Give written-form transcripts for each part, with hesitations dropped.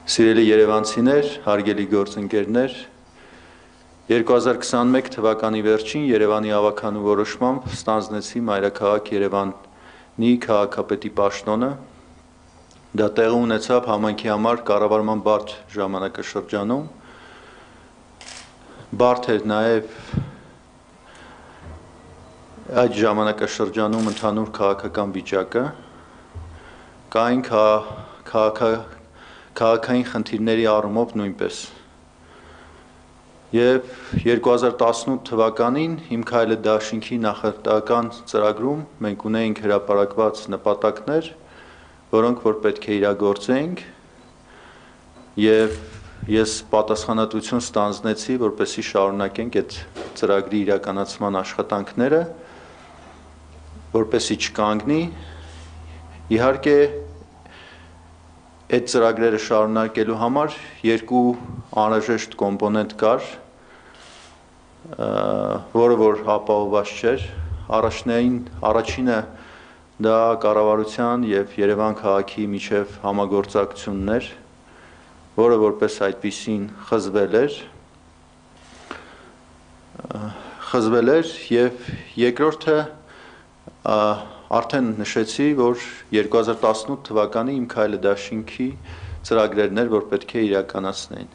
Սիրելի երևանցիներ, հարգելի գործընկերներ, 2021 թվականի վերջին Երևանի ավագանու որոշմամբ ստանձնեցի մայրաքաղաք Երևանի քաղաքապետի պաշտոնը։ Դա տեղի ունեցավ համայնքի համար կառավարման բարդ ժամանակաշրջանում։ Բարդ էր նաև այդ ժամանակաշրջանում ընդհանուր քաղաքական վիճակը, կային քաղաքային խնդիրների առումով նույնպես։ Եվ 2018 թվականին Իմ քայլը դաշինքի նախընտրական ծրագրում մենք ունեինք հրապարակված նպատակներ, որոնք որ պետք է իրագործեինք, եւ ես պատասխանատվություն ստանձնեցի, որպեսզի շարունակենք այդ ծրագրի իրականացման աշխատանքները, որպեսզի չկանգնի։ Իհարկե այդ ծրագրերը շարունակելու համար երկու անհրաժեշտ կոմպոնենտ կար, որը որ ապահովված չէր։ Առաջինը դա կառավարության եւ Երևան քաղաքի միջև համագործակցությունն էր, որը որպես այդպիսին խզվել էր եւ երկրորդը արդեն նշեցի, որ 2018 թվականի Իմ քայլը դաշինքի ծրագրերն էր, որ պետք է իրականացնեին։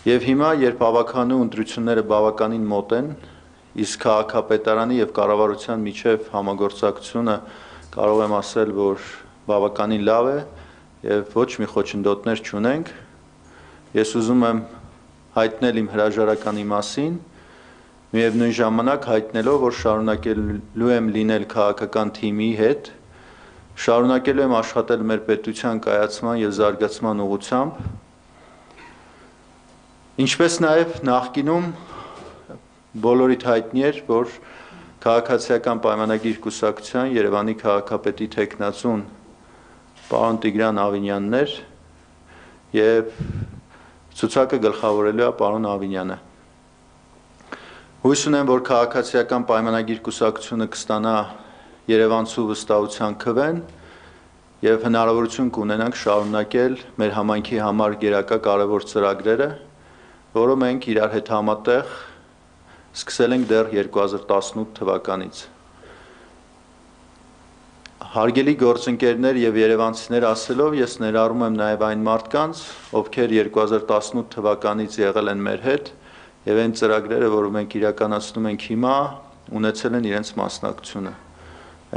Եվ հիմա, երբ ավագանու ընտրությունները բավականին մոտ են, իսկ քաղաքապետարանի եւ կառավարության միջև համագործակցությունը կարող եմ ասել, որ բավականին լավ է եւ ոչ մի խոչընդոտներ չունենք, ես ուզում եմ հայտնել իմ հրաժարականի մասին, միևնույն ժամանակ հայտնելով, որ շարունակելու եմ լինել քաղաքական թիմի հետ, շարունակելու եմ աշխատել մեր պետության կայացման եւ զարգացման ուղղությամբ, ինչպես նաեւ նախկինում բոլորիդ հայտնի էր, որ քաղաքացիական պայմանագիր կուսակցության Երևանի քաղաքապետի թեկնածուն պարոն Տիգրան Ավինյանն էր եւ ցուցակը գլխավորելու է պարոն Ավինյանը։ Հույս ունեմ, որ քաղաքացիական պայմանագիր կուսակցությունը կստանա Երևանցու վստահության քվեն եւ հնարավորություն կունենանք շարունակել մեր համայնքի համար գերակա կարևոր ծրագրերը, որը մենք իրար հետ համատեղ սկսել ենք դեռ 2018 թվականից։ Հարգելի գործընկերներ եւ երևանցիներ ասելով, ես ներառում եմ նաեւ այն մարդկանց, ովքեր 2018 թվականից եղել են մեր հետ եւ այն ծրագրերը, որ մենք իրականացնում ենք հիմա, ունեցել են իրենց մասնակցությունը։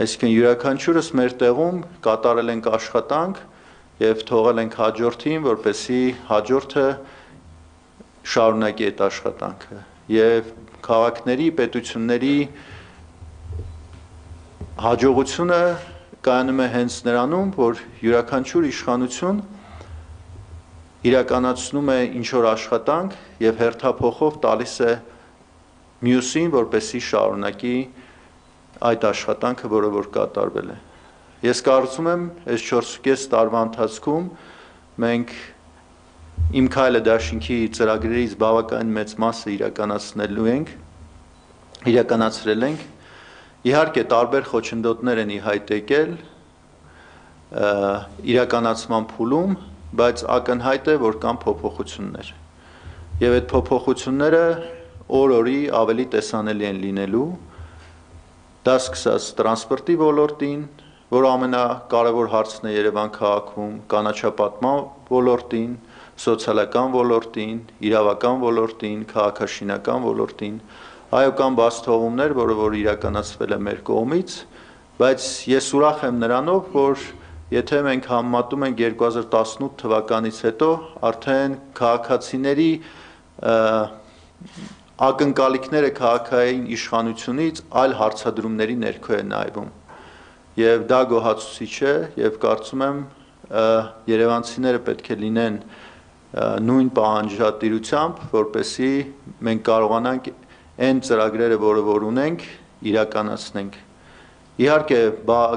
Այսինքն յուրաքանչյուրս մեր տեղում կատարել ենք աշխատանք եւ թողել ենք հաջորդին, որպեսզի հաջորդը շարունակի այդ աշխատանքը եւ քաղաքների, պետությունների հաջողությունը կայանում է հենց նրանում, որ յուրաքանչյուր իշխանություն իրականացնում է ինչ-որ աշխատանք եւ հերթափոխով տալիս է մյուսին, որպեսզի շարունակի այդ աշխատանքը, որը որ կատարվել է։ Ես կարծում եմ, այս 4.5 տարվա ընթացքում մենք Իմ քայլը դաշինքի ծրագրերից բավականին մեծ մասը իրականացրել ենք։ Իհարկե տարբեր խոչընդոտներ են ի հայտ եկել իրականացման փուլում, բայց ակնհայտ է, որ կան փոփոխություններ։ Եվ այդ փոփոխությունները օր-օրի ավելի տեսանելի են լինելու, դա սկսած տրանսպորտի ոլորտին, որ ամենակարևոր հարցն է Երևան քաղաքում, կանաչապատման ոլորտին, սոցիալական ոլորտին, իրավական ոլորտին, քաղաքաշինական ոլորտին, այո կան բացթողումներ, որը որ իրականացվել է մեր կողմից, բայց ես ուրախ եմ նրանով, որ եթե մենք համեմատում ենք 2018 թվականից հետո, արդեն քաղաքացիների ակնկալիքները քաղաքային իշխանությունից այլ հարցադրումների ներքո է նայվում։ Եվ դա գոհացուցիչ է, եւ կարծում եմ երևանցիները պետք է լինեն նույն պահանջատիրությամբ, որպեսզի մենք կարողանանք այն ծրագրերը, որը որ ունենք, իրականացնենք։ Իհարկե,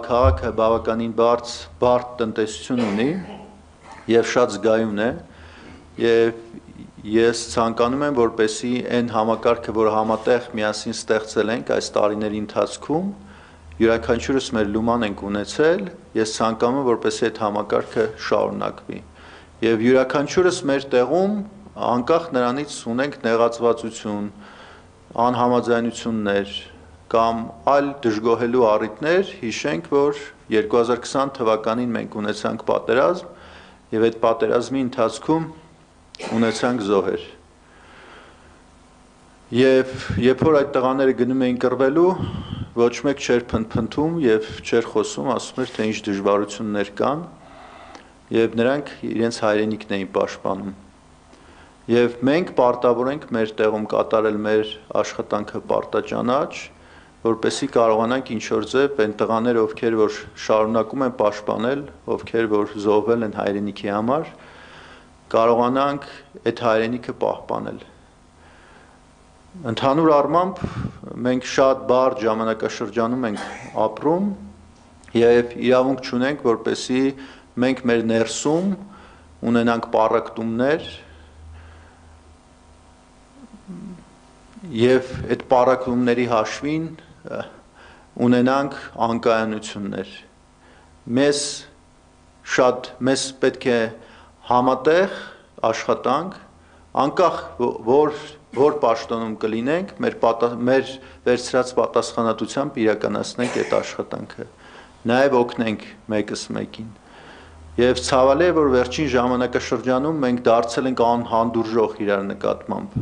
քաղաքը բավականին բարդ տնտեսություն ունի եւ շատ զգայուն է, եւ ես ցանկանում եմ, որպեսզի այն համակարգը, որ համատեղ միասին ստեղծել ենք այս տարիների ընթացքում, յուրաքանչյուրս մեր լուման ենք ունեցել, ես ցանկանում եմ, որպեսզի այդ համակարգը շարունակվի։ եւ յուրաքանչյուրս մեր տեղում անկախ նրանից ունենք նեղացվածություն, անհամաձայնություններ կամ այլ դժգոհելու առիթներ, հիշենք, որ 2020 թվականին մենք ունեցանք պատերազմ եւ այդ պատերազմի ընթացքում ունեցանք զոհեր։ Եվ երբ որ այդ տղաները գնում էին կռվելու, ոչ մեկ չէր փնփնթում եւ չէր խոսում, ասում էր, թե ինչ դժվարություններ կան, եւ նրանք իրենց հայրենիքն էին պաշտպանում։ Եվ մենք պարտավոր ենք մեր տեղում կատարել մեր աշխատանքը պարտաճանաչ, որպեսզի կարողանանք ինչ-որ ձև այն տղաները, ովքեր որ շարունակում են պաշտպանել, ովքեր որ զոհվել են հայրենիքի համար, կարողանանք այդ հայրենիքը պահպանել։ Ընդհանուր առմամբ մենք շատ բարդ ժամանակաշրջանում ենք ապրում եւ իրավունք չունենք, որպեսզի մենք մեր ներսում ունենանք պառակտումներ եւ այդ պառակտումների հաշվին ունենանք անկայանություններ։ Մեզ պետք է համատեղ աշխատանք, անկախ որ պաշտոնում կլինենք, մեր վերցրած պատասխանատվությամբ իրականացնենք այդ աշխատանքը, նաև օգնենք մեկս մեկին։ Եվ ցավալի է, որ վերջին ժամանակաշրջանում մենք դարձել ենք անհանդուրժող իրար նկատմամբ։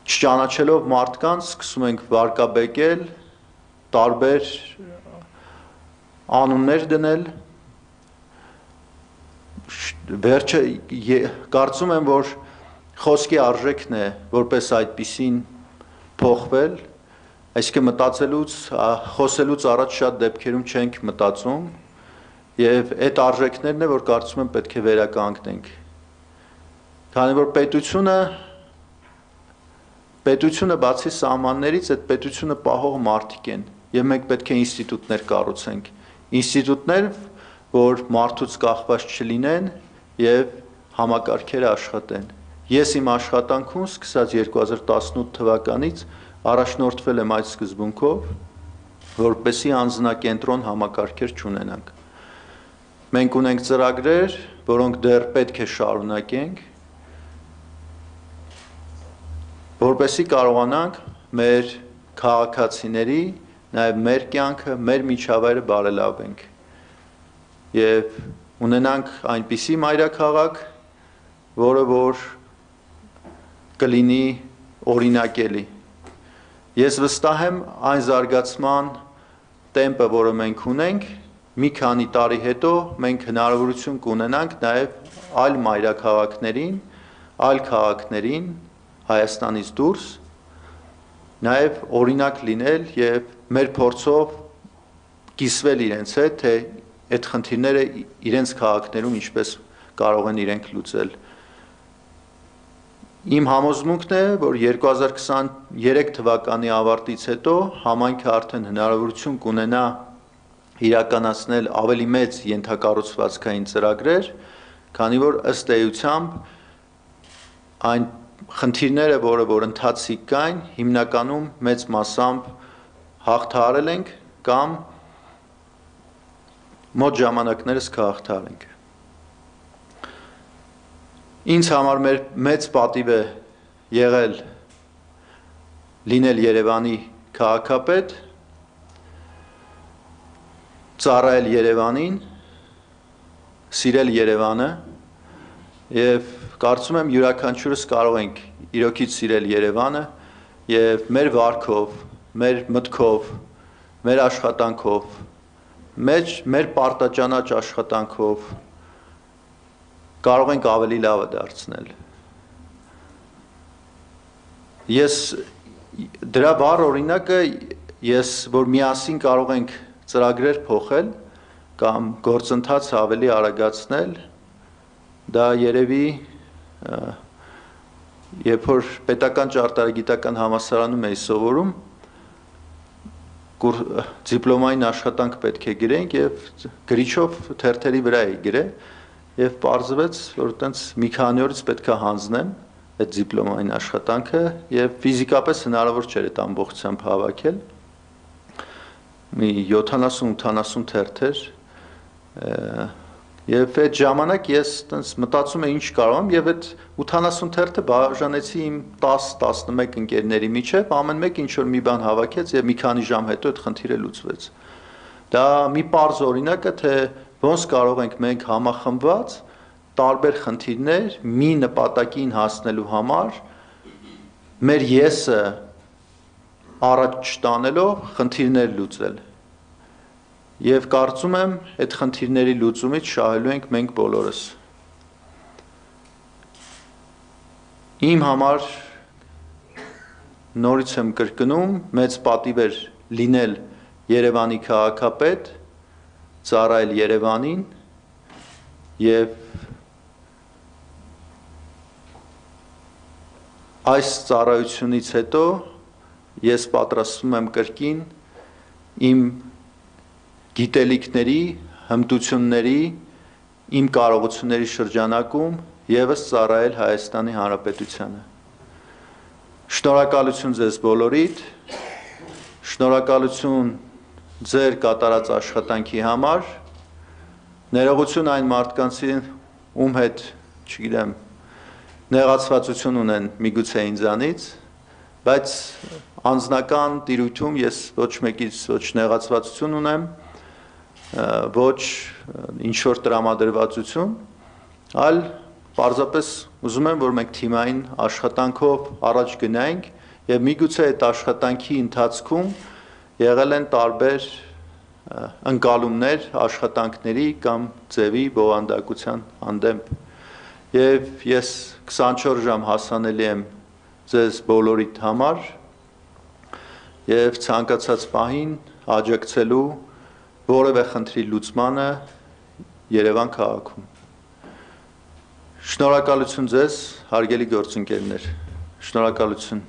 Չճանաչելով մարդկանց, սկսում ենք վարկաբեկել, տարբեր անուններ դնել, վերջը կարծում եմ, որ խոսքի արժեքն է, որպես այդպիսին փոխվել, այսինքն խոսելուց առաջ շատ դեպքերում չենք մտածում, եւ այդ արժեքներն է, որ կարծում եմ պետք է վերականգնենք։ Քանի որ պետությունը բացի սահմաններից, այդ պետությունը պահող մարդիկ են, եւ մենք պետք է ինստիտուտներ կառուցենք, ինստիտուտներ, որ մարդուց կախված չլինեն եւ համակարգերը աշխատեն։ Ես իմ աշխատանքում սկսած 2018 թվականից առաջնորդվել եմ այդ սկզբունքով, որպեսզի անձնակենտրոն համակարգեր չունենանք։ Մենք ունենք ծրագրեր, որոնք դեռ պետք է շարունակենք, որպեսզի կարողանանք մեր քաղաքացիների, նաև մեր կյանքը, մեր միջավայրը բարելավենք եւ ունենանք այնպիսի մայրաքաղաք, որը որ կլինի օրինակելի։ Ես վստահ եմ այն զարգացման տեմպը, որը մենք ունենք, մի քանի տարի հետո մենք հնարավորություն կունենանք նաև այլ մայրաքաղաքներին, այլ քաղաքներին Հայաստանից դուրս նաև օրինակ լինել եւ մեր փորձով կիսվել իրենց հետ, թե այդ խնդիրները իրենց քաղաքներում ինչպես կարող են իրենք լուծել։ Իմ համոզմունքն է, որ 2023 թվականի ավարտից հետո համայնքը արդեն հնարավորություն կունենա իրականացնել ավելի մեծ ենթակառուցվածքային ծրագրեր, քանի որ ըստ էությամբ այն խնդիրները, որ ընթացիկ կային, հիմնականում մեծ մասամբ հաղթահարել ենք կամ մոտ ժամանակներս կհաղթահարենք։ Ինձ համար մեծ պատիվ է եղել լինել Երևանի քաղաքապետ, ծառայել Երևանին, սիրել Երևանը եւ կարծում եմ յուրաքանչյուրս կարող ենք իրոքից սիրել Երևանը եւ մեր վարքով, մեր մտքով, մեր աշխատանքով, մեր պարտաճանաչ աշխատանքով կարող ենք ավելի լավը դարձնել։ Ես դրա վառ օրինակը որ միասին կարող ենք ծրագրեր փոխել կամ գործընթաց ավելի արագացնել, դա երևի երբ որ պետական ճարտարագիտական համալսարանում էի սովորում, դիպլոմային աշխատանք պետք է գրենք եւ գրիչով թերթերի վրա էի գրել եւ պարզվեց, որ այտենց մի քանի օրից պետք է հանձնեմ այդ դիպլոմային աշխատանքը եւ ֆիզիկապես հնարավոր չէր այդ ամբողջությամբ հավաքել։ Մի 70-80 թերթեր Եվ այդ ժամանակ ես մտածում եմ ինչ կարող եմ եւ այդ 80 թերթը բաժանեցի իմ 10-11 ընկերների միջև, ամեն մեկ ինչ որ մի բան հավաքեց եւ մի քանի ժամ հետո այդ խնդիրը լուծվեց։ Դա մի պարզ օրինակ է, թե ոնց կարող ենք մենք համախմբված տարբեր խնդիրներ մի նպատակին հասնելու համար մեր եսը առաջ տանելով խնդիրներ լուծել։ Եվ կարծում եմ, այդ խնդիրների լուծումից շահելու ենք մենք բոլորս։ Իմ համար նորից եմ կրկնում, մեծ պատիվ էր լինել Երևանի քաղաքապետ, ծառայել Երևանին եւ այս ծառայությունից հետո ես պատրաստվում եմ կրկին իմ գիտելիքների, հմտությունների, իմ կարողությունների շրջանակում եւս ծառայել Հայաստանի Հանրապետությանը։ Շնորհակալություն ձեզ բոլորիդ, շնորհակալություն ձեր կատարած աշխատանքի համար, ներողություն այն մարդկանցին, ում հետ, չգիտեմ, նեղացվածություն ունեն միգուցե ինձանից, բայց անձնական տիրույթում ես ոչ մեկից ոչ նեղացվածություն ունեմ, ոչ ինչ-որ տրամադրվածություն, այլ պարզապես ուզում եմ, որ մենք թիմային աշխատանքով առաջ գնայինք եւ միգուցե այդ աշխատանքի ընթացքում եղել են տարբեր ընկալումներ, աշխատանքների կամ ձևի բովանդակության հանդեպ եւ ես 24 ժամ հասանելի եմ ձեզ բոլորիդ համար եւ ցանկացած պահին աջակցելու որևէ խնդրի լուծմանը Երևան քաղաքում։ Շնորհակալություն ձեզ, հարգելի գործընկերներ, շնորհակալություն։